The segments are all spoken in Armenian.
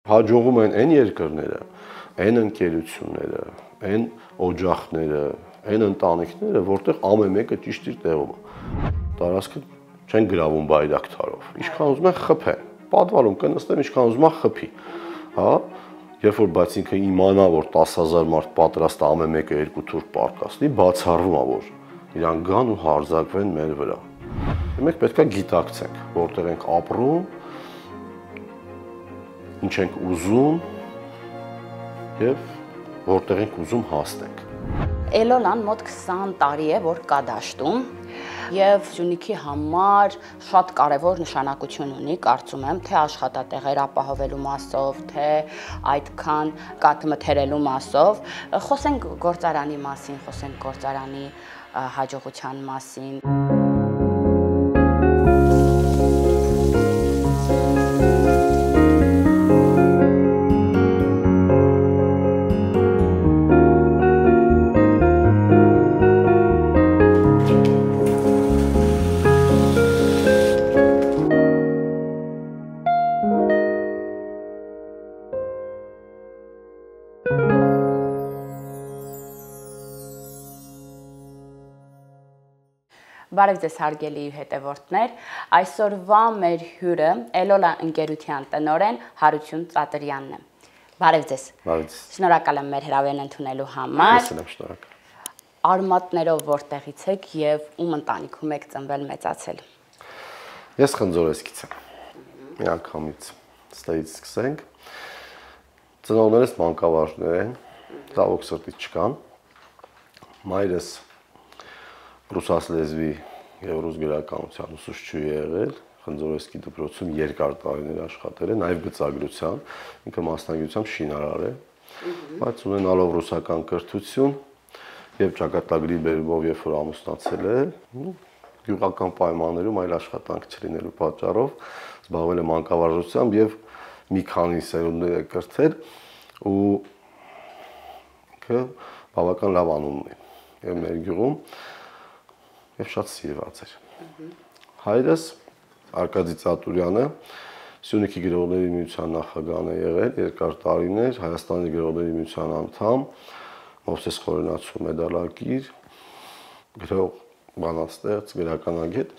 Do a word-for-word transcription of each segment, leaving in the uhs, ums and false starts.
Հաջողում են այն երկրները, այն ընկերությունները, այն օջախները, այն ընտանիքները, որտեղ ամեն մեկը ճիշտ իր տեղում է։ Տարածքը չեն գրավում բայրակտարով։ Ինչքան ուզում են խփեն։ Պատվալում կնստեն, ինչքան ուզում է խփի։ Հա, երբ որ բայց ինքը իմանա, որ տասը հազար մարդ պատրաստ է ամեն մեկը երկու թուր պարկասնի, բացառվում է, որ իրան գան ու հարձակվեն մեր վրա։ Մենք պետք է գիտակցենք, որտեղ ենք ապրում, ինչ ենք ուզում եւ որտեղ ենք ուզում հասնենք։ Էլոլան մոտ քսան տարի է, որ կա դաշտում եւ Սյունիքի համար շատ կարեւոր նշանակություն ունի, կարծում եմ, թե աշխատատեղեր ապահովելու մասով, թե այդքան կաթ մթերելու մասով։ Խոսենք գործարանի մասին, խոսենք գործարանի հաջողության մասին։ Բարև ձեզ հարգելի հետևորդներ, այսօրվա մեր հյուրը Էլոլա ընկերության տնօրեն Հարություն Ծատրյանն է։ Բարև ձեզ։ Բարև ձեզ։ Շնորհակալ եմ մեր հրավերն ընդունելու համար։ Ես եմ շնորհակալ։ Արմատներով որտեղից եք եւ ում ընտանիքում եք ծնվել մեծացել։ Ես Խնձորեսկից եմ։ Մի անգամից ստեից սկսենք։ Ծնողներս մանկավարժներ են, ցավոք սրտի չկան։ Մայրս ռուսաց լեզվի եւ ռուս գրականության ուսուցչուհի է եղել, Խնձորեսկի դպրոցում երկար տարիներ աշխատել է, նաեւ գծագրության, ինքը մասնագիտությամբ շինարար է, բայց ունենալով ռուսական կրթություն եւ ճակատագրի բերումով երբ որ ամուսնացել է, գյուղական պայմաններում այլ աշխատանք չլինելու պատճառով զբաղվել է մանկավարժությամբ եւ մի քանի սերունդներ է կրթել ու ինքը բավական լավ անուն ունի եւ մեր գյուղում եւ շատ սիրված էր։ Հայրս Արկադի Ծատուրյանը Սյունիքի գրողների միության նախագահն է եղել երկար տարիներ, Հայաստանի գրողների միության անդամ, Մովսես Խորենացու մեդալակիր, գրող, բանաստեղծ, գրականագետ,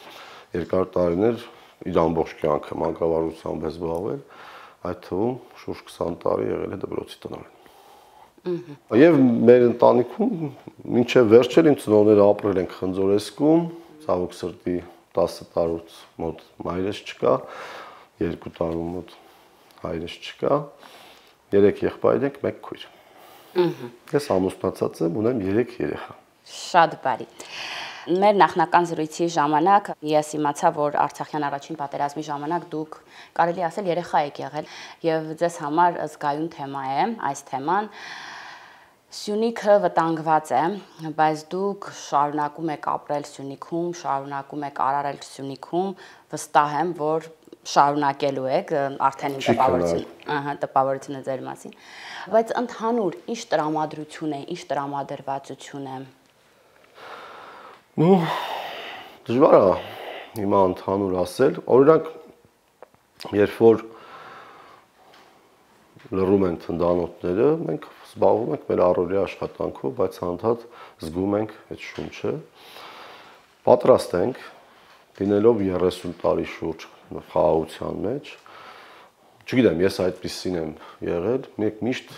երկար տարիներ իր ամբողջ կյանքը մանկավարժությամբ է զբաղվել, այդ թվում շուրջ քսան տարի եղել է դպրոցի տնօրեն։ Եվ մեր ընտանիքում մինչև վերջել իմ ծնողները ապրել են Խնձորեսկում, ցավոք սրտի տասը տարուց մոտ մայրս չկա, երկու տարու մոտ հայրս չկա, երեք եղբայր ենք, մեկ քույր։ Ես ամուսնացած եմ, ունեմ երեք երեխա։ Շատ բարի։ Մեր նախնական զրույցի ժամանակ ես իմացա, որ Արցախյան առաջին պատերազմի ժամանակ դուք կարելի ասել երեխա եք եղել եւ ձեզ համար զգայուն թեմա է այս թեման։ Սյունիքը վտանգված է, բայց դուք շարունակում եք ապրել Սյունիքում, շարունակում եք արարել Սյունիքում, վստահ եմ, որ շարունակելու եք, արդեն իմ տպավորությունը, ահա, տպավորությունը ձեր մասին, բայց ընդհանուր ինչ տրամադրություն է, ինչ տրամադրվածություն է։ Ну, դժվար է հիմա ընդհանուր ասել, օրինակ, երբ որ լռում են թնդանոթները, մենք զբաղվում ենք մեր առօրյա աշխատանքով, բայց անդադ զգում ենք այդ շունչը, պատրաստ ենք, լինելով երեսուն տարի շուրջ խաղաղության մեջ, չգիտեմ, ես այդպիսին եմ եղել, մենք միշտ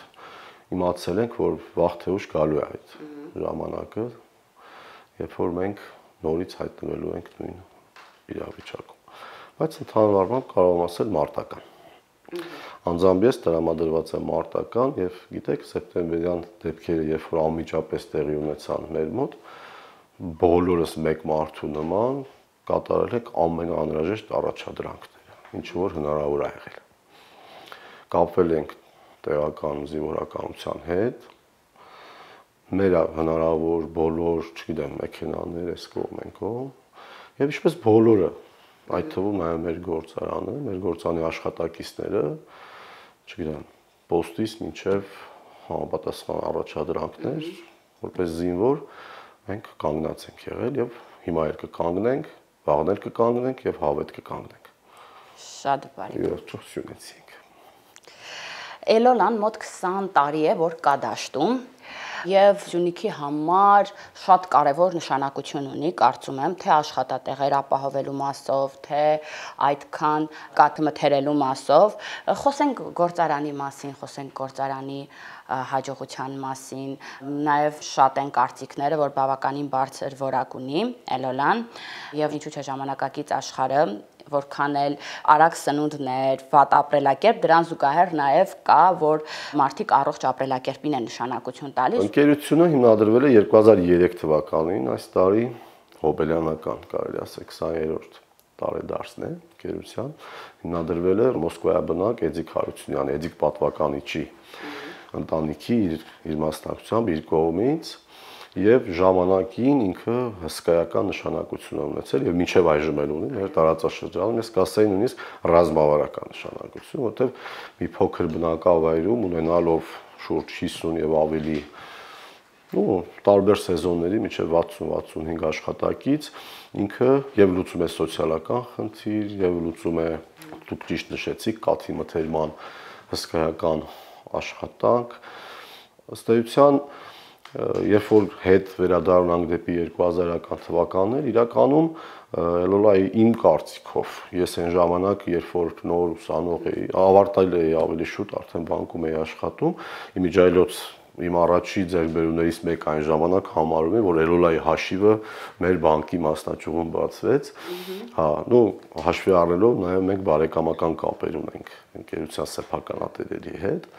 իմացել ենք, որ վաղ թե ուշ գալու է այդ ժամանակը, երբ որ մենք նորից հայտնվելու ենք նույն իրավիճակում, բայց ընդհանուր առմամբ կարող եմ ասել մարտական։ Անձամբ ես տրամադրված եմ մարտական եւ գիտեք սեպտեմբերյան դեպքերը երբ որ անմիջապես տեղի ունեցան մեր մոտ բոլորս մեկ մարդու նման կատարել ենք ամենաանհրաժեշտ առաջադրանքները ինչ որ հնարավոր է եղել կապվել ենք տեղական զինվորականության հետ մեր հնարավոր բոլոր չգիտեմ մեքենաներ էս կողմ են կողմ եւ ինչպես բոլորը այդ թվում նաեւ մեր գործարանը մեր գործանի աշխատակիցները չգիտեմ, պոստից մինչև համապատասխան առաջադրանքներ, որպես զինվոր մենք կանգնած ենք եղել եւ հիմա էլ կկանգնենք, վաղն էլ կկանգնենք եւ հավետ կկանգնենք։ Շատ բարի։ Եվ ճոխ Սյունեցինք։ Էլոլան մոտ քսան տարի է, որ կա դաշտում եւ Սյունիքի համար շատ կարեւոր նշանակություն ունի, կարծում եմ, թե աշխատատեղեր ապահովելու մասով, թե այդքան կաթ մթերելու մասով։ Խոսենք գործարանի մասին, խոսենք գործարանի հաջողության մասին, նաև շատ են կարծիքները, որ բավականին բարձր որակ ունի Էլոլան եւ ինչու՞ չէ ժամանակակից աշխարհը որքան էլ արագ սնունդներ, վատ ապրելակերպ, դրան զուգահեռ նաև կա, որ մարդիկ առողջ ապրելակերպին են նշանակություն տալիս։ Ընկերությունը հիմնադրվել է երկու հազար երեք թվականին, այս տարի հոբելյանական, կարելի ասել քսաներորդ տարեդարձն է ընկերության, հիմնադրվել է Մոսկվայաբնակ Էդիկ Հարությունյանի, Էդիկ պատվականիչի ընտանիքի իր, իր մասնակցությամբ իր կողմից եւ ժամանակին ինքը հսկայական նշանակություն է ունեցել եւ մինչեւ այժմ էլ ունի մեր տարածաշրջանում, ես կասեի նույնիսկ ռազմավարական նշանակություն, որտեղ մի փոքր բնակավայրում ունենալով շուրջ հիսուն եւ ավելի ու տարբեր սեզոնների մինչեւ վաթսուն վաթսունհինգ աշխատակից ինքը եւ լուծում է սոցիալական խնդիր եւ լուծում է, դուք ճիշտ նշեցիք, կաթի մթերման հսկայական աշխատանք, ըստ էության երբ որ հետ վերադառնանք դեպի երկու հազարական թվականներ, իրականում Էլոլայի իմ կարծիքով, ես այն ժամանակ, երբ որ նոր ուսանող էի, ավարտել էի ավելի շուտ, արդեն բանկում էի աշխատում, իմիջիայլոց իմ առաջի ձեռքբերումներից մեկ այն ժամանակ համարում եմ, որ Էլոլայի հաշիվը մեր բանկի մասնաճյուղում բացվեց, հա, նո հաշվի առնելով նաև մենք բարեկամական կապեր ունենք ընկերության սեփականատերերի հետ,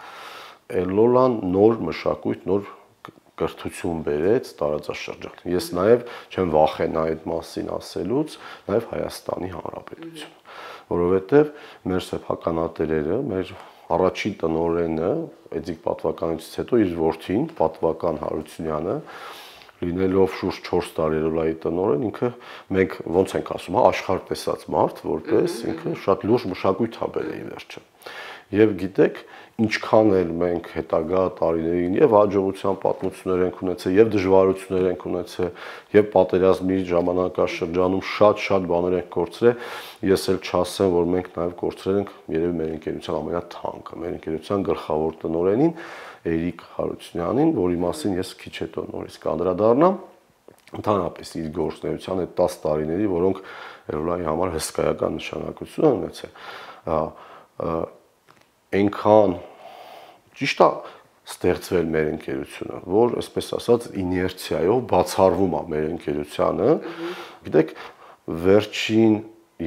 Էլոլան նոր մշակույթ, նոր կրթություն բերեց տարածաշրջան։ Ես նաև չեմ վախենա այդ մասին ասելուց, նաև Հայաստանի Հանրապետություն, որովհետև մեր սեփականատերերը, մեր առաջին տնօրենը, Էդիկ պատվականությունից հետո իր որդին, Պատվական Հարությունյանը, լինելով շուրջ չորս տարի Էլոլայի տնօրեն, ինքը մենք ոնց ենք ասում, հա, աշխարհ տեսած մարդ, որպես ինքը շատ լուրջ մշակույթ է բերել վերջը։ Եվ գիտեք, ինչքան էլ մենք հետագա տարիներին եւ հաջողության պատմություններ ենք ունեցել, եւ դժվարություններ ենք ունեցել, եւ պատերազմի ժամանակաշրջանում շատ-շատ բաներ ենք կորցրել, ես էլ չասեմ, որ մենք նաեւ կորցրել ենք երևի մեր ընկերության ամենաթանկը, մեր ընկերության գլխավոր տնօրենին Էրիկ Հարությունյանին, որի մասին ես քիչ հետո նորից կանդրադառնամ, ընդհանրապես իր գործունեության այդ տասը տարիների, որոնք Էլոլայի համար հսկայական նշանակություն են ունեցել, այնքան ճիշտ է ստեղծվել մեր ընկերությունը, որ այսպես ասած իներցիայով բացառվում է մեր ընկերությանը, գիտեք, վերջին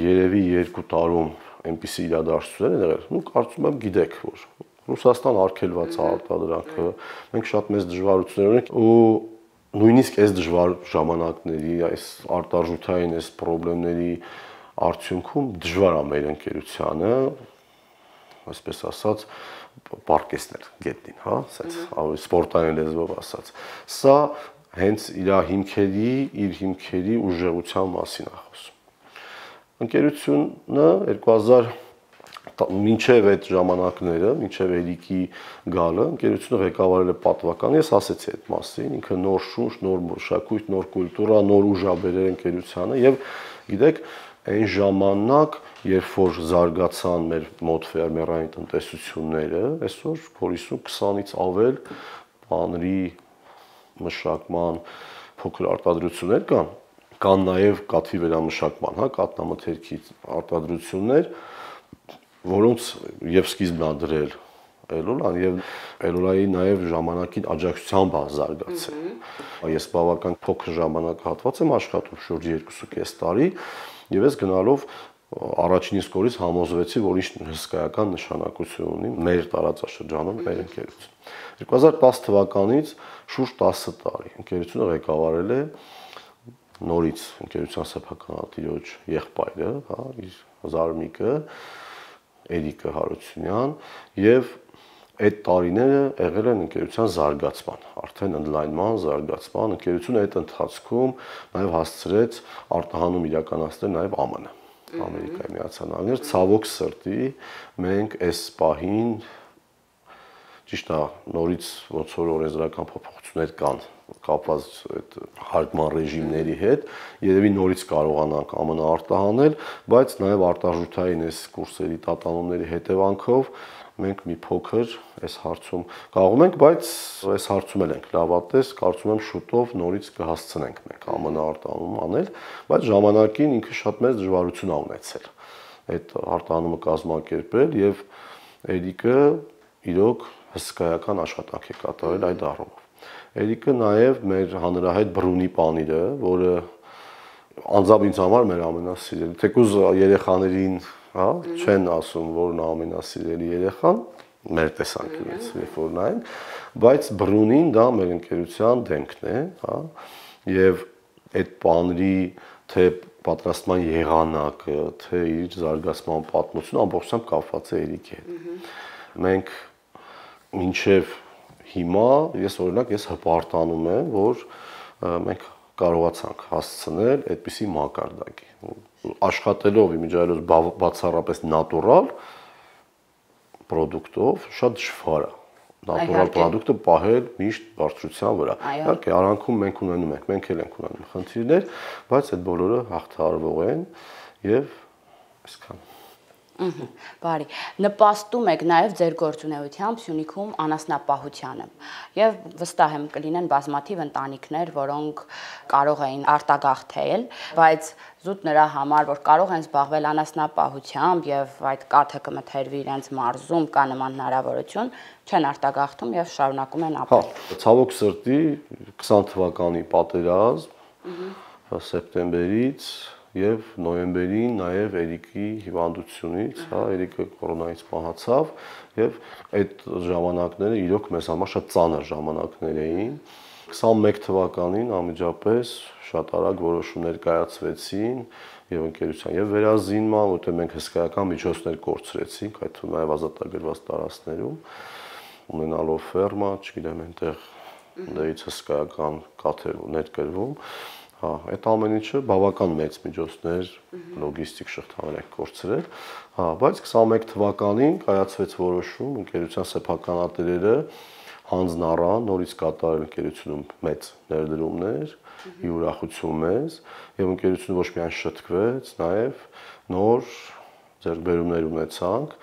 երևի երկու տարում այնպիսի իրադարձություններ են եղել, ու կարծում եմ գիտեք, որ Ռուսաստան արգելված է արտադրանքը, մենք շատ մեծ դժվարություններ ունենք ու նույնիսկ այս դժվար ժամանակների, այս արտարժութային այս խնդիրների արդյունքում դժվար է մեր ընկերությանը, այսպես ասած, պարկեսներ գետնին, հա, ասած, ավելի սպորտային լեզվով ասած։ Սա հենց իր հիմքերի, իր հիմքերի ուժեղության մասին է խոսում։ Ընկերությունը երկու հազար մինչև այդ ժամանակները, մինչև Էրիկի գալը, ընկերությունը ղեկավարել է պատվական, ես ասեցի այդ մասին, ինքը նոր շունչ, նոր մշակույթ, նոր կուլտուրա, նոր ուժ ա բերել ընկերությանը եւ գիտեք, այն ժամանակ, երբ որ զարգացան մեր մոտ ֆերմերային տնտեսությունները, այսօր փորիսու քսանից ավել բաների մշակման փոքր արտադրություններ կան, կան նաև կաթի վերամշակման, հա, կաթնամթերքի արտադրություններ, որոնց եւ սկիզբն ա դրել Էլոլան եւ Էլոլայի նաև ժամանակին աջակցությամբ ա զարգացել։ Ես բավական փոքր ժամանակահատված եմ աշխատում, շուրջ երկուսուկես տարի, եւ ես գնալով առաջին իսկ օրից համոզվեցի, որ ինչ հսկայական նշանակություն ունի մեր տարածաշրջանում մեր ընկերություն։ երկու հազար տասը թվականից շուրջ տասը տարի ընկերությունը ղեկավարել է նորից ընկերության սեփականատիրոջ եղբայրը, հա, իր զարմիկը Էրիկը Հարությունյան եւ այդ տարիները եղել են ընկերության զարգացման, արդեն ընդլայնման, զարգացման, ընկերությունը այդ ընթացքում նաեւ հասցրեց արտահանում իրականացնել նաեւ ԱՄՆ, Ամերիկայի Միացյալ Նահանգներ, ցավոք սրտի մենք այս պահին ճիշտ է, նորից ոնց որ օրենսդրական փոփոխություններ կան կապված այդ հարկման ռեժիմների հետ, երևի նորից կարողանանք ԱՄՆ արտահանել, բայց նաև արտարժութային այս կուրսերի տատանումների հետևանքով մենք մի փոքր այս հարցում կարողում ենք, բայց այս հարցում էլ ենք լավատես, կարծում եմ շուտով նորից կհասցնենք մենք ԱՄՆ արտահանում անել, բայց ժամանակին ինքը շատ մեծ դժվարություն ա ունեցել այդ արտահանումը կազմակերպել եւ Էրիկը իրոք հսկայական աշխատանք է կատարել այդ առումով։ Էրիկը նաեւ մեր հանրահայտ Բրունի պանիրը, որը անձամբ ինձ համար մեր ամենասիրելի, թեկուզ երեխաներին, հա, չեն ասում, որն ամենասիրելի երեխան, մեր տեսանկյունից, երբ որ նայեն, բայց Բրունին դա մեր ընկերության դեմքն է, հա, եւ այդ պանրի թե պատրաստման եղանակը, թե իր զարգացման պատմությունը ամբողջությամբ կապված է Էրիկի հետ։ Մենք մինչեւ հիմա ես օրինակ ես հպարտանում եմ, որ մենք կարողացանք հասցնել այդպիսի մակարդակի։ Աշխատելով իմիջիայլոց բացառապես նատուրալ պրոդուկտով շատ դժվար է։ Նատուրալ պրոդուկտը պահել միշտ բարձրության վրա։ Իհարկե, արանքում մենք ունենում ենք, մենք էլ ենք ունենում խնդիրներ, բայց այդ բոլորը հաղթահարվող են եւ այսքան։ Ահա, բարի։ Նպաստում եք նաև ձեր գործունեությամբ Սյունիքում անասնապահությանը եւ վստահ եմ կլինեն բազմաթիվ ընտանիքներ, որոնք կարող էին արտագաղթել, բայց զուտ նրա համար, որ կարող են զբաղվել անասնապահությամբ եւ այդ կաթը կմթերվի իրենց մարզում կա նման հնարավորություն, չեն արտագաղթում եւ շարունակում են ապրել։ Հա, ցավոք սրտի քսան թվականի պատերազմ սեպտեմբերից եւ նոյեմբերին նաեւ Էրիկի հիվանդությունից, հա, Էրիկը կորոնայից մահացավ եւ այդ ժամանակները իրոք մեզ համար շատ ծանր ժամանակներ էին։ քսանմեկ թվականին անմիջապես շատ արագ որոշումներ կայացվեցին եւ ընկերության եւ վերազինման, որտեղ մենք հսկայական միջոցներ կորցրեցինք, այդ թվում նաեւ ազատագրված տարածքներում, ունենալով ֆերմա, չգիտեմ, այնտեղ դերից հսկայական կաթեր ներկրվում։ Հա, այդ ամեն ինչը բավական մեծ միջոցներ, լոգիստիկ շղթաներ են կորցրել, հա, բայց քսանմեկ թվականին կայացվեց որոշում, ընկերության սեփականատերերը հանձն առան նորից կատարել ընկերությունում մեծ ներդրումներ, ի ուրախություն մեզ, եւ ընկերությունը ոչ միայն շտկվեց, նաեւ նոր ձեռքբերումներ ունեցանք,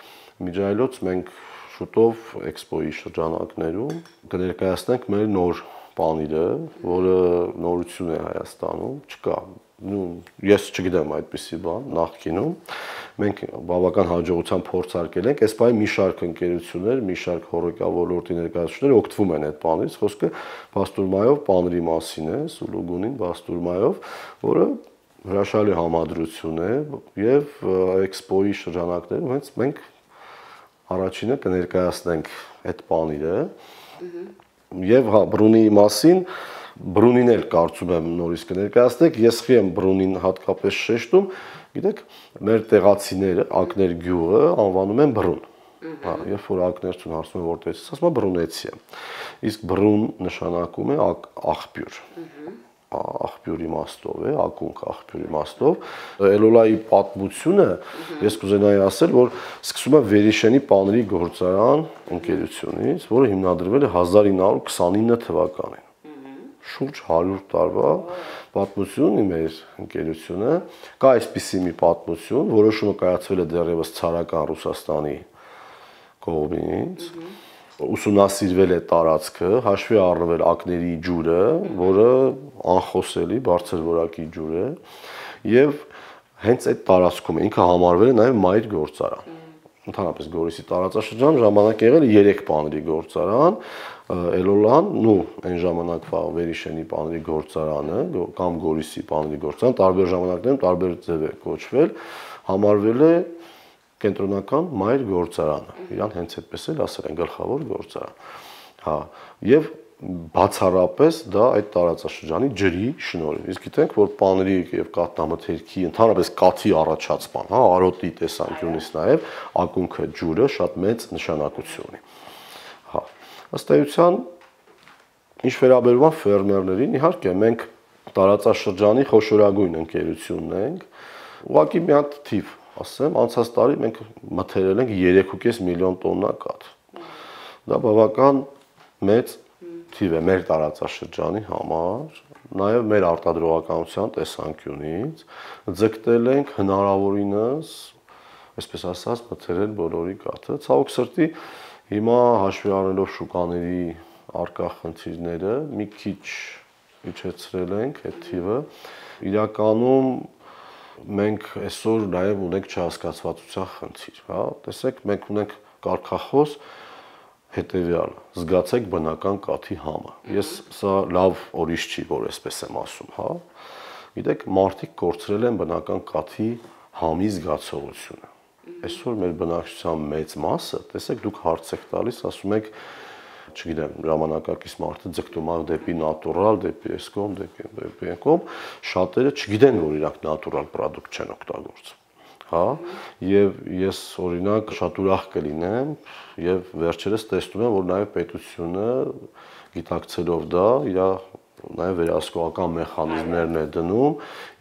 միջայլոց մենք շուտով էքսպոյի շրջանակներում կներկայացնենք մեր նոր պանիրը, որը նորություն է Հայաստանում, չկա, նու ես չգիտեմ այդպիսի բան նախկինում, մենք բավական հաջողությամբ փորձարկել ենք, այս բանի մի շարք ընկերություններ, մի շարք հոռեկա ոլորտի ներկայացուցիչներ օգտվում են այդ պանիրից, խոսքը բաստուրմայով պանիրի մասին է, Սուլուգունին բաստուրմայով, որը հրաշալի համադրություն է եւ էքսպոյի շրջանակներում հենց մենք առաջինը կներկայացնենք այդ պանիրը Եվ հա Բրունի մասին Բրունին էլ կարծում եմ նորից կներկայացնեք, ես խի եմ Բրունին հատկապես շեշտում, գիտեք, մեր տեղացիները Ակներ գյուղը անվանում են Բրուն։ Հա, երբ որ ակներցուն հարցնում են որտեղից, ասում են Բրունեցի է։ Իսկ Բրուն նշանակում է աղբյուր։ Աղբյուր իմաստով է, ակունք աղբյուր իմաստով։ Էլոլայի պատմությունը ես կուզենայի ասել, որ սկսում է Վերիշենի պանրի գործարան ընկերությունից, որը հիմնադրվել է հազար ինը հարյուր քսանինը թվականին։ Շուրջ հարյուր տարվա պատմություն ունի մեր ընկերությունը։ Կա այսպիսի մի պատմություն, որոշումը կայացվել է դեռևս ցարական Ռուսաստանի կողմից։ Ուսումնասիրվել է տարածքը, հաշվի առնվել ակների ջուրը, որը անխոսելի բարձր որակի ջուր է, եւ հենց այդ տարածքում է ինքը համարվել է նաեւ մայր գործարան։ Ընդհանրապես Գորիսի տարածաշրջան ժամանակ եղել է երեք պանրի գործարան, Էլոլան, նու այն ժամանակվա Վերիշենի պանրի գործարանը կամ Գորիսի պանրի գործարան տարբեր ժամանակներում տարբեր ձև է կոչվել, համարվել է կենտրոնական մայր գործարանը։ Իրան հենց այդպես էլ ասել են գլխավոր գործարան։ Հա, եւ բացառապես դա այդ տարածաշրջանի ջրի շնորհիվ։ Իսկ գիտենք, որ պանրի եւ կաթնամթերքի, ընդհանրապես կաթի առաջացման, հա, արոտի տեսանկյունից նաեւ ակունքը ջուրը շատ մեծ նշանակություն ունի։ Հա, ըստ էության ինչ վերաբերում է ֆերմերներին, իհարկե մենք տարածաշրջանի խոշորագույն ընկերությունն ենք, ուղղակի մի հատ թիվ ասեմ, անցած տարի մենք մթերել ենք երեք ու կես միլիոն տոննա կաթ։ Դա բավական մեծ թիվ է մեր տարածաշրջանի համար, նաև մեր արտադրողականության տեսանկյունից, ձգտել ենք հնարավորինս այսպես ասած, մթերել բոլորի կաթը։ Ցավոք սրտի հիմա հաշվի առնելով շուկաների արկա խնդիրները մի քիչ իջեցրել ենք այդ թիվը։ Իրականում մենք այսօր նաև ունենք չհասկացվածության խնդիր, հա։ Տեսեք, մենք ունենք կարգախոս հետևյալը. զգացեք բնական կաթի համը։ Ես սա լավ ուրիշ չի, որ այսպես եմ ասում, հա։ Գիտեք, մարդիկ կորցրել են բնական կաթի համի զգացողությունը։ Այսօր մեր բնակչության մեծ մասը, տեսեք, դուք հարց եք տալիս, ասում եք, չգիտեմ, ժամանակակից մարդը ձգտում է դեպի նատուրալ, դեպի էսկոմ, դեպի դեպի էկոմ, շատերը չգիտեն, որ իրանք նատուրալ պրոդուկտ չեն օգտագործում, հա, եւ ես օրինակ շատ ուրախ կլինեմ եւ վերջերս տեսնում եմ, որ նաեւ պետությունը գիտակցելով դա իր նաեւ վերահսկողական մեխանիզմներն է դնում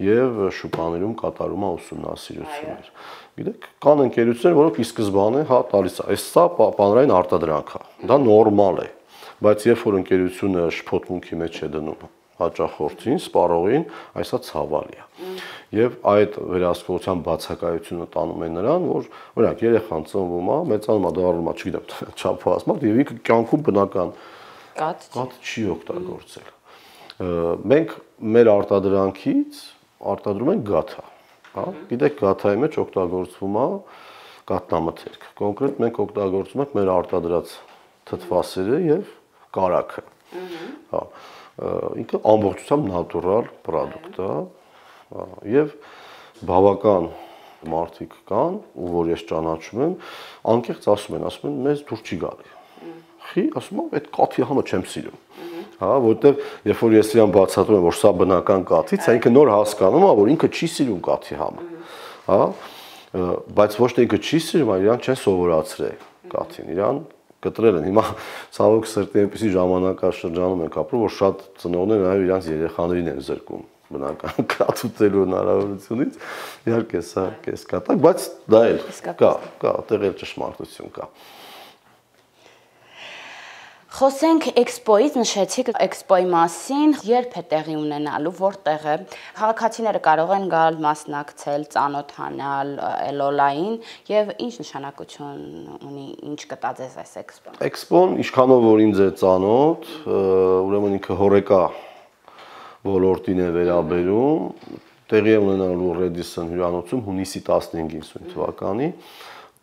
եւ շուկաներում կատարում է ուսումնասիրություններ։ Գիտեք, կան ընկերություններ, որոնք ի սկզբանե հա տալիս է, այս սա բանրային արտադրանք է, դա նորմալ է, բայց երբ որ ընկերությունը շփոթմունքի մեջ է դնում հաճախորդին, սպառողին, այսա ցավալի է։ Եվ այդ վերահսկողության բացակայությունը տանում է նրան, որ օրինակ երեխան ծնվում է, մեծանում է, դառնում է, չգիտեմ, չափված մարդ եւ ինքը կյանքում բնական կաթ չի օգտագործել։ Մենք մեր արտադրանքից արտադրում ենք գաթա, հա, գիտեք, գաթայի մեջ օգտագործվում է կաթնամթերք։ Կոնկրետ մենք օգտագործում ենք մեր արտադրած թթվասերը եւ կարագը։ Հա, ինքը ամբողջությամբ նատուրալ պրոդուկտ է, եւ բավական մարդիկ կան, ու որ ես ճանաչում եմ, անկեղծ ասում են, ասում են, մեզ դուր չի գալի։ Խի, ասում եմ, այդ կաթի համը չեմ սիրում։ Հա, որտեվ երբ որ ես իրան բացատրում եմ, որ սա բնական կաթից է, ինքը նոր հասկանում է, որ ինքը չի սիրում կաթի համը։ Հա, բայց ոչ թե ինքը չի սիրում, այլ իրան չեն սովորացրել կաթին, իրան կտրել են։ Հիմա ցավոք սրտի այնպեսի ժամանակաշրջանում ենք ապրում, որ շատ ծնողներ նաև իրանց երեխաներին են զրկում բնական կաթ ուտելու հնարավորությունից։ Իհարկե սա կես կատակ, բայց դա էլ կա, կա, այդտեղ էլ ճշմարտություն կա։ Խոսենք էքսպոյից, նշեցիք էքսպոյի մասին, երբ է տեղի ունենալու, որտեղ է։ Քաղաքացիները կարող են գալ, մասնակցել, ծանոթանալ Էլոլային եւ ինչ նշանակություն ունի, ինչ կտա ձեզ այս էքսպոն։ Էքսպոն ինչքանով որ ինձ է ծանոթ, ուրեմն ինքը հորեկա ոլորտին է վերաբերում, տեղի է ունենալու Redison հյուրանոցում հունիսի տասնհինգին թվականի։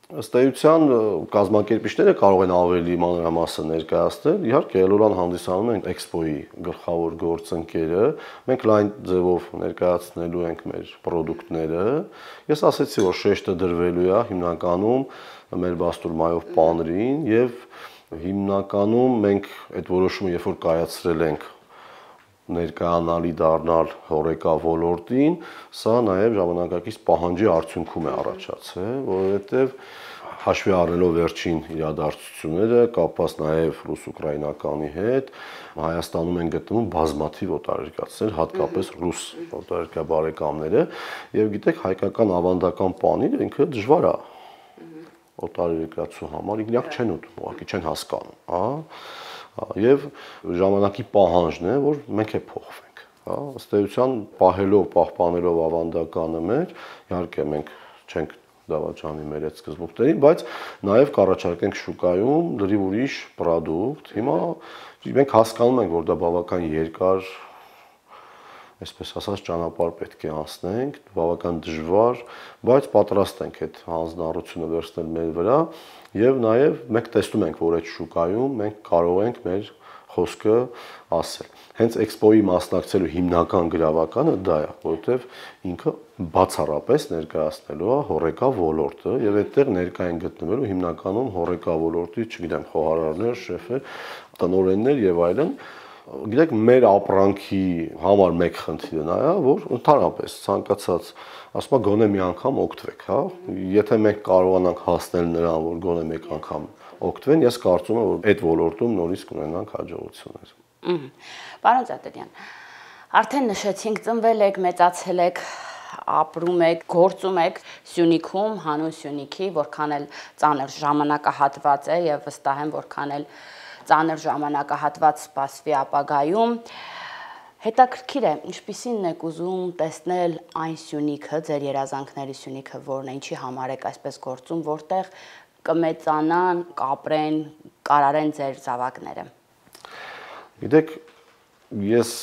Ըստ էության կազմակերպիչները կարող են ավելի մանրամասն ներկայացնել։ Իհարկե Էլոլան հանդիսանում են էքսպոյի գլխավոր գործընկերը, մենք լայն ձևով ներկայացնելու ենք մեր պրոդուկտները։ Ես ասացի, որ շեշտը դրվելու է հիմնականում մեր բաստուրմայով պանրին եւ հիմնականում մենք այդ որոշումը երբ որ կայացրել ենք ներկայանալի դառնալ հորեկա ոլորտին, սա նաև ժամանակակից պահանջի արդյունքում է առաջացել, որովհետև հաշվի առնելով վերջին իրադարձությունները, կապված նաև ռուս-ուկրաինականի հետ, Հայաստանում են գտնվում բազմաթիվ օտարերկրացիներ, հատկապես ռուս օտարերկրյա բարեկամները, եւ գիտեք, հայկական ավանդական պանիրը ինքը դժվար է օտարերկրացու համար, իրանք չեն ուտում, ուղղակի չեն հասկանում, հա։ Եվ ժամանակի պահանջն է, որ մենք է փոխվենք, հա, ըստ էության պահելով, պահպանելով ավանդականը մեր, իհարկե մենք չենք դավաճանի մեր այդ սկզբունքներին, բայց նաև կառաջարկենք շուկայում լրիվ ուրիշ պրոդուկտ։ Հիմա մենք հասկանում ենք, որ դա բավական երկար, այսպես ասած, ճանապարհ պետք է անցնենք, բավական դժվար, բայց պատրաստ ենք այդ հանձնառությունը վերցնել մեր վրա եւ նաեւ մենք տեսնում ենք, որ այդ շուկայում մենք կարող ենք մեր խոսքը ասել։ Հենց էքսպոյի մասնակցելու հիմնական գրավականը դա է, որովհետեւ ինքը բացառապես ներկայացնելու է հորեկա ոլորտը եւ այդտեղ ներկա են գտնվելու հիմնականում հորեկա ոլորտի, չգիտեմ, խոհարարներ, շեֆեր, տնօրեններ եւ այլն։ Գիտեք, մեր ապրանքի համար մեկ խնդիրը նա է, որ ընդհանրապես ցանկացած, ասում եմ, գոնե մի անգամ օգտվեք, հա։ Եթե մենք կարողանանք հասնել նրան, որ գոնե մեկ անգամ օգտվեն, ես կարծում եմ, որ այդ ոլորտում նորից կունենանք հաջողություններ։ Պարոն Ծատերյան, արդեն նշեցինք, ծնվել եք, մեծացել եք, ապրում եք, գործում եք Սյունիքում, հանուն Սյունիքի, որքան էլ ծանր ժամանակահատված է եւ վստահ եմ, որքան էլ ծանր ժամանակահատված սպասվի ապագայում։ Հետաքրքիր է, ինչպիսին եք ուզում տեսնել այն Սյունիքը, ձեր երազանքների Սյունիքը, որն է, ինչի համար եք այսպես գործում, որտեղ կմեծանան, կապրեն, կարարեն ձեր զավակները։ Գիտեք, ես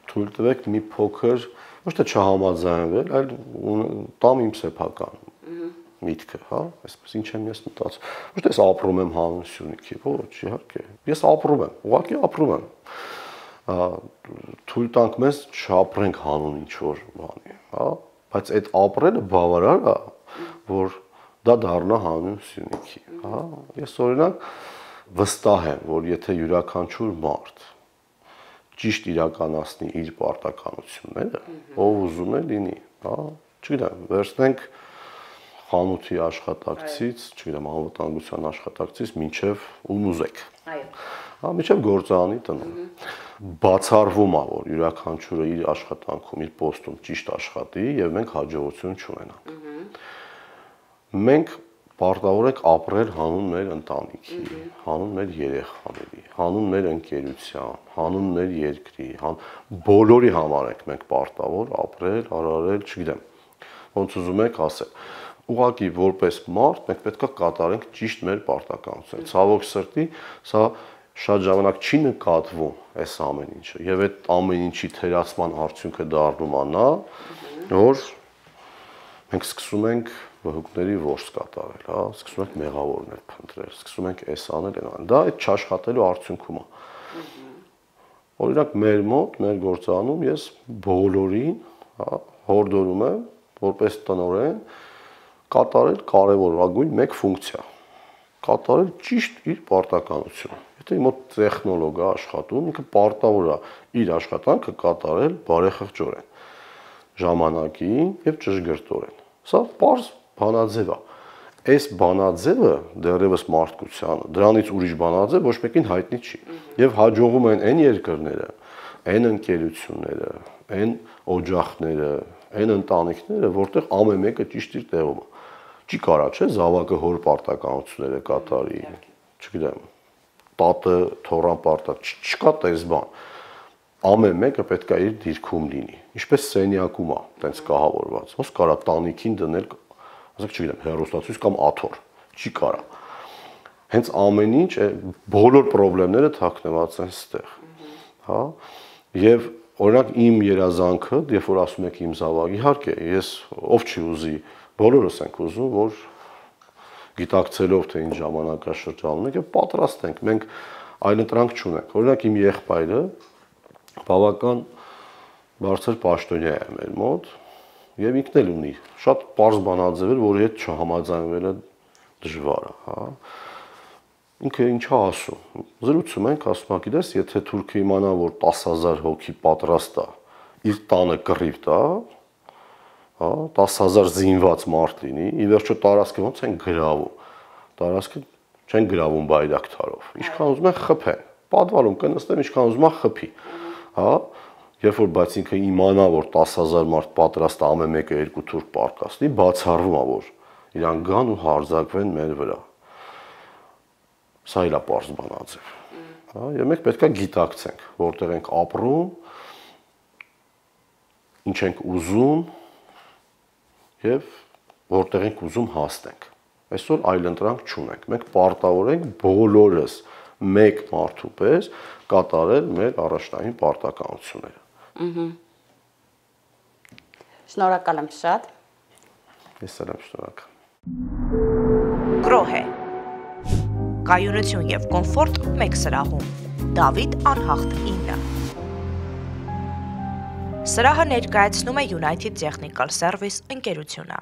թույլ տվեք մի փոքր, ոչ թե չհամաձայնվել, այլ տամ իմ սեփական միտքը, հա, այսպես ինչ եմ ես մտածում։ Ոչ թե ես ապրում եմ հանուն Սյունիքի, ոչ, իհարկե։ Ես ապրում եմ, ուղղակի ապրում եմ։ Թույլ տանք մեզ չապրենք հանուն ինչ որ բանի, հա, բայց այդ ապրելը բավարար է, որ դա դառնա հանուն Սյունիքի, հա։ Ես օրինակ վստահ եմ, որ եթե յուրաքանչյուր մարդ ճիշտ իրականացնի իր պարտականությունները, ով ուզում է լինի, հա, չգիտեմ, վերցնենք խանութի աշխատակցից, չգիտեմ, անվտանգության աշխատակցից մինչև ում ուզեք։ Այո։ Հա, մինչև գործարանի տնօրեն։ Բացառվում է, որ յուրաքանչյուրը իր աշխատանքում, իր պոստում ճիշտ աշխատի եւ մենք հաջողություն չունենանք։ Մենք պարտավոր ենք ապրել հանուն մեր ընտանիքի, հանուն մեր երեխաների, հանուն մեր ընկերության, հանուն մեր երկրի, բոլորի համար ենք մենք պարտավոր ապրել, արարել, չգիտեմ, ոնց ուզում եք ասել։ Ուղղակի որպես մարդ մենք պետք է կատարենք ճիշտ մեր պարտականությունը։ Ցավոք սրտի, սա շատ ժամանակ չի նկատվում այս ամեն ինչը, եւ այդ ամեն ինչի թերացման արդյունքը դառնում է նա, որ մենք սկսում ենք վհուկների որս կատարել, հա, սկսում ենք մեղավորներ փնտրել, սկսում ենք էս անել, այն անել։ Դա այդ չաշխատելու արդյունքում է։ Օրինակ մեր մոտ, մեր գործանում ես բոլորին, հա, հորդորում եմ, որպես տնօրեն կատարել կարևորագույն մեկ ֆունկցիա, կատարել ճիշտ իր պարտականությունը։ Եթե մոտ տեխնոլոգ է աշխատում, ինքը պարտավոր է իր աշխատանքը կատարել բարեխղճորեն, ժամանակին եւ ճշգրտորեն։ Սա պարզ բանաձև է։ Այս բանաձևը դեռևս մարդկությանը, դրանից ուրիշ բանաձև ոչ մեկին հայտնի չի։ Եվ հաջողում են այն երկրները, այն ընկերությունները, այն օջախները, այն ընտանիքները, որտեղ ամեն մեկը ճիշտ իր տեղում է։ Չի կարա, չէ, զավակը հոր պարտականությունները կատարի, չգիտեմ, տատը թորան պարտակ, չկա տես բան։ Ամեն մեկը պետք է իր դիրքում լինի։ Ինչպես սենյակում է, տենց կահավորված։ Ոնց կարա տանիքին դնել, ասենք, չգիտեմ, հեռուստացույց կամ աթոռ, չի կարա։ Հենց ամեն ինչ, բոլոր խնդիրները թաքնված են ստեղ, հա։ Եվ օրինակ իմ երազանքը, երբ որ ասում եք իմ զավակ, իհարկե, ես ով չի ուզի, բոլորս ենք ուզում, որ գիտակցելով թե ինչ ժամանակաշրջանում ենք եւ պատրաստ ենք, մենք այլընտրանք չունենք։ Օրինակ իմ եղբայրը բավական բարձր պաշտոնյա է մեր մոտ եւ ինքն էլ ունի շատ པարզ բանաձևեր, որի հետ չհամաձայնվելը դժվար է, հա։ Ինքը ինչա ասում։ Զրուցում ենք, ասում ա, գիտես, եթե թուրքը իմանա, որ տասը հազար հոգի պատրաստ է իր տանը կռիվ տա, հա, տասը հազար զինված մարդ լինի, ի վերջո տարածքը ոնց են գրավում։ Տարածքը չեն գրավում բայրակթարով։ Ինչքան ուզում են խփեն։ Պատվալում կնստեն, ինչքան ուզում է խփի։ Հա, երբ որ բայց ինքը իմանա, որ տասը հազար մարդ պատրաստ է ամեն մեկը երկու թուրք պարտքասնի, բացառվում է, որ իրան գան ու հարձակվեն մեր վրա։ Սա էլ է պարզ բանաձև։ Հա, եւ մենք պետք է գիտակցենք, որտեղ ենք ապրում, ինչ ենք ուզում եւ որտեղ ենք ուզում հասնենք։ Այսօր այլընտրանք չունենք։ Մենք պարտավոր ենք բոլորս մեկ մարդու պես կատարել մեր առաջնային պարտականությունները։ Ահա։ Շնորհակալ եմ շատ։ Ես էլ եմ շնորհակալ։ Գրոհե կայունություն եւ կոմֆորտ մեկ սրահում։ Դավիթ Անհախտ ինը Սրահը ներկայացնում է United Technical Service ընկերությունը։